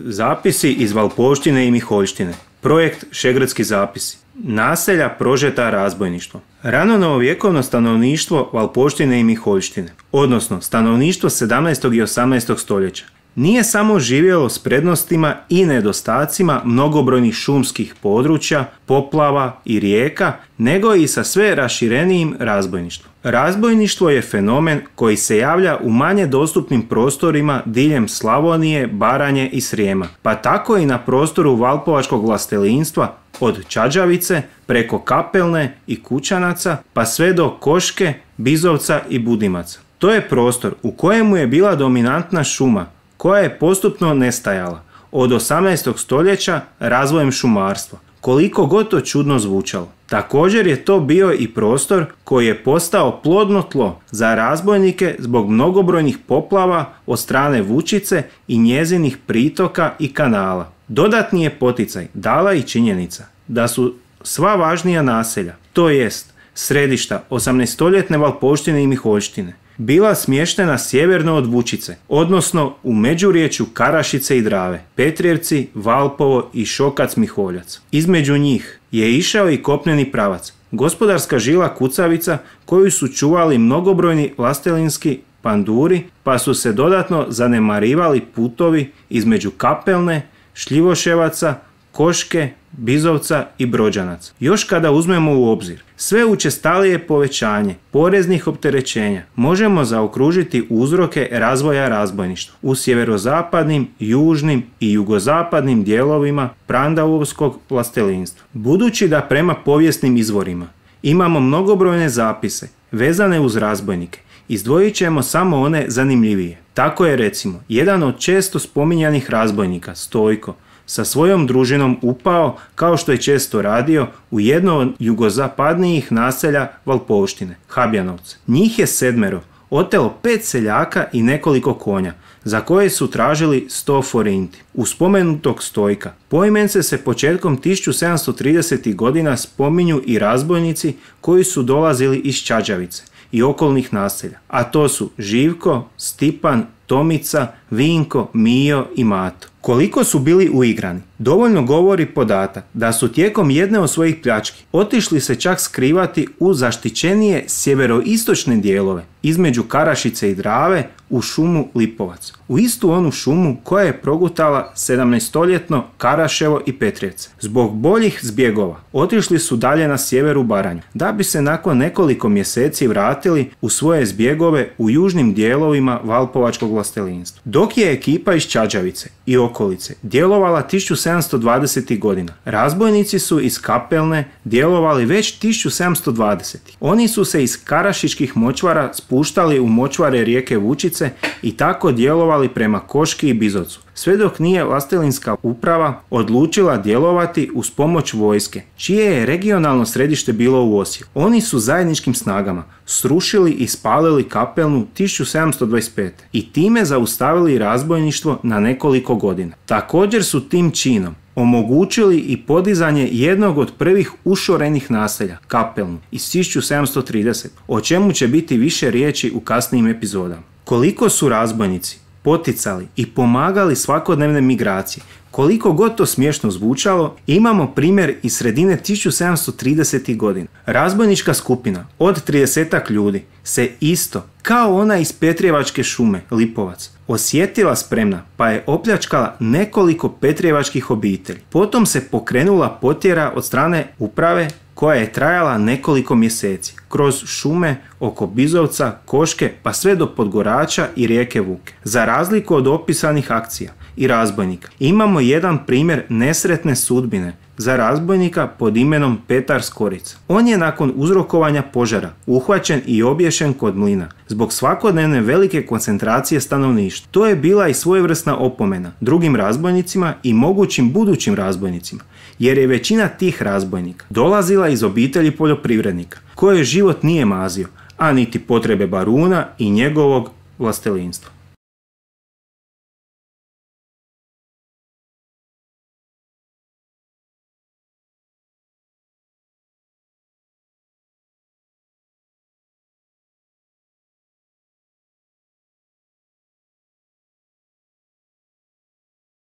Zapisi iz Valpovštine i Miholjštine. Projekt Šegrdski zapisi. Naselja prožeta razbojništvom. Rano novovjekovno stanovništvo Valpovštine i Miholjštine, odnosno stanovništvo 17. i 18. stoljeća, nije samo živjelo s prednostima i nedostacima mnogobrojnih šumskih područja, poplava i rijeka, nego i sa sve raširenijim razbojništvom. Razbojništvo je fenomen koji se javlja u manje dostupnim prostorima diljem Slavonije, Baranje i Srijema, pa tako i na prostoru valpovačkog vlastelinstva od Čađavice preko Kapelne i Kućanaca pa sve do Koške, Bizovca i Budimaca. To je prostor u kojemu je bila dominantna šuma koja je postupno nestajala od 18. stoljeća razvojem šumarstva, koliko god to čudno zvučalo. Također je to bio i prostor koji je postao plodno tlo za razbojnike zbog mnogobrojnih poplava od strane Vučice i njezinih pritoka i kanala. Dodatni je poticaj dala i činjenica da su sva važnija naselja, to jest središta 18-stoljetne Valpovštine i Miholjštine, bila smještena sjeverno od Vučice, odnosno u međuriječju Karašice i Drave, Petrijevci, Valpovo i Šokac Miholjac. Između njih je išao i kopneni pravac, gospodarska žila Kucavica koju su čuvali mnogobrojni vlastelinski panduri, pa su se dodatno zanemarivali putovi između Kapelne, Šljivoševaca, Koške, Bizovca i Brođanaca. Još kada uzmemo u obzir sve učestalije povećanje poreznih opterećenja, možemo zaokružiti uzroke razvoja razbojništva u sjeverozapadnim, južnim i jugozapadnim dijelovima Prandavovskog vlastelinstva. Budući da prema povijesnim izvorima imamo mnogobrojne zapise vezane uz razbojnike, izdvojit ćemo samo one zanimljivije. Tako je recimo jedan od često spominjanih razbojnika, Stojko, sa svojom družinom upao, kao što je često radio, u jedno od jugozapadnijih naselja Valpovštine, Habjanovce. Njih je 7 otelo 5 seljaka i nekoliko konja, za koje su tražili 100 forinti. U spomenutog Stojka poimence se početkom 1730. godina spominju i razbojnici koji su dolazili iz Čađavice i okolnih naselja, a to su Živko, Stipan, Tomica, Vinko, Mijo i Mato. Koliko su bili uigrani, dovoljno govori podatak da su tijekom jedne od svojih pljački otišli se čak skrivati u zaštićenije sjeveroistočne dijelove između Karašice i Drave u šumu Lipovac. U istu onu šumu koja je progutala 17-stoljetno Karaševo i Petrijevce. Zbog boljih zbjegova otišli su dalje na sjeveru Baranju, da bi se nakon nekoliko mjeseci vratili u svoje zbjegove u južnim dijelovima Valpovačkog vlastelinstva. Dok je ekipa iz Čađavice i okolice djelovala 1720. godina, razbojnici su iz Kapelne djelovali već 1720. Oni su se iz Karašičkih močvara spuštali u močvare rijeke Vučice i tako djelovali prema Koški i Bizovcu, sve dok nije vlastelinska uprava odlučila djelovati uz pomoć vojske, čije je regionalno središte bilo u Osijeku. Oni su zajedničkim snagama srušili i spalili Kapelnu 1725. i time zaustavili razbojništvo na nekoliko godina. Također su tim činom omogućili i podizanje jednog od prvih ušorenih naselja, Kapelnu, iz 1730, o čemu će biti više riječi u kasnijim epizodama. Koliko su razbojnici poticali i pomagali svakodnevne migracije, koliko god to smiješno zvučalo, imamo primjer iz sredine 1730. godina. Razbojnička skupina od 30-ak ljudi se isto, kao ona iz Petrijevačke šume, Lipovac, osjetila spremna pa je opljačkala nekoliko petrijevačkih obitelji. Potom se pokrenula potjera od strane uprave koja je trajala nekoliko mjeseci, kroz šume oko Bizovca, Koške pa sve do Podgorača i rijeke Vuke. Za razliku od opisanih akcija i razbojnika, imamo jedan primjer nesretne sudbine za razbojnika pod imenom Petar Skorica. On je nakon uzrokovanja požara uhvaćen i obješen kod mlina zbog svakodnevne velike koncentracije stanovništva. To je bila i svojevrsna opomena drugim razbojnicima i mogućim budućim razbojnicima, jer je većina tih razbojnika dolazila iz obitelji poljoprivrednika, koje život nije mazio, a niti potrebe baruna i njegovog vlastelinstva.